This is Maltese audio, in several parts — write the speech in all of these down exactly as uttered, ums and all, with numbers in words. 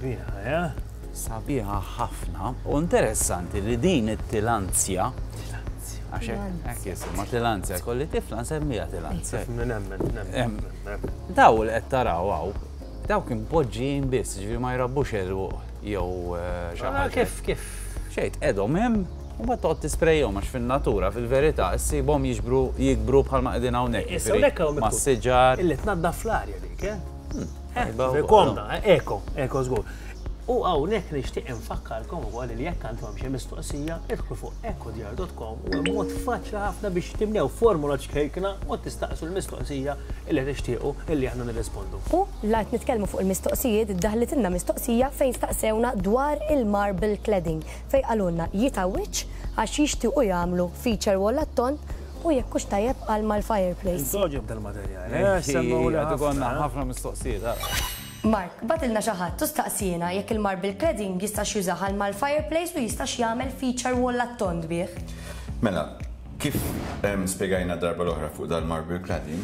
Sabiħa, eh? Sabiħa ħafna u interessanti li din it-tillandsia, għax hekk hekk jisimha tillandsia, kelli tifla nsemmiha tillandsia. Nemmen, Em, nemmen. Daw li qed taraw hawn, daw kien poġġijin biss, ġifieri ma jrabbux għeruq jew eh, xi Ah, ħaġa. Kif, kif? Xejn, qegħdhom hemm u ma toqgħod tisprejhom għax fin-natura, fil-verità, issibhom jiġbru jikbru bħalma qegħdin hawnhekk. Issa ġifieri hawnhekk hawn ma' miktub siġar. Illi tnaddaf l-arja dik, eh? Tajba Eh, wkoll, komda, eh, eko, eko żgur. U hawnhekk nixtieq infakkarkom ukoll li jekk għandkom xi mistoqsija, idħlu fuq ekodjar punt com u hemm mod faċli ħafna biex timlew formula ċkejkna u tistaqsu l-mistoqsija illi tixtiequ illi aħna nirrispondu. U la qed nitkellmu fuq il-mistoqsijiet, daħlitilna mistoqsija fejn staqsewna dwar il-marble cladding, fejn qalulna jitgħawwiġ għax jixtiequ jagħmlu feature wall għat-tond u jekk hux tajjeb għal mal-fireplace. Intogħġob dal-materjal, eh? Semmew li Għadu konna ħafna. ħafna mistoqsijiet, ara. Mark, bagħtilna xi ħadd u staqsiena jekk il-marble cladding jistax jużah għal mal-fireplace u jistax jagħmel feature wall għat-tond bih. Mela, kif em, spiegajna darba l-oħra fuq dal-marble cladding,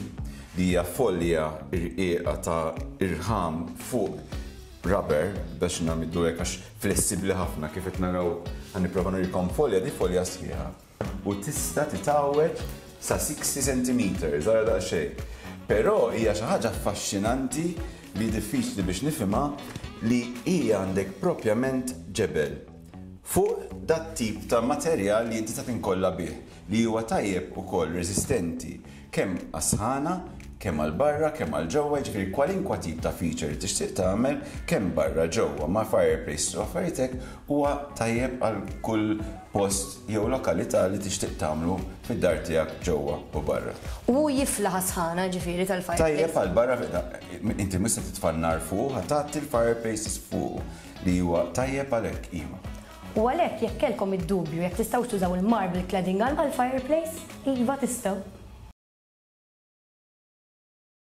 li hija folja irqiqa ta' irħam fuq rubber biex nagħmlu hekk għax flessibbli ħafna, kif qed naraw, ħa nipprova nurikom folja, di folja sħiħa. U tista' titgħawweġ sa sittin centimetri, żgħira daqsxejn. Però hija xi ħaġa affaxxinanti li diffiċli biex nifhimha, li hija għandek propjament ġebel fuq dat tip ta' materjal li inti ta' tinkolla bih, li huwa tajjeb ukoll resistenti kemm għas-sħana, kemm għal barra, kemm għal ġewwa, ġifieri kwalinkwa tip ta' feature li tixtieq tagħmel kemm barra, ġewwa, ma' fireplace u affarijiet hekk, huwa tajjeb għal kull post jew lokalità li tixtieq tagħmlu fid-dar tiegħek ġewwa u barra. U jiflaħ sħana ġifieri tal-fireplace. Tajjeb għal barra, inti mista titfa' n-nar fuq, ħa tagħti l-fireplaces fuq li huwa tajjeb għalhekk, iva. U għalhekk jekk kellkom id-dubju jekk tistgħux tużaw il-marble cladding għal mal-fireplace, iva, tistgħu.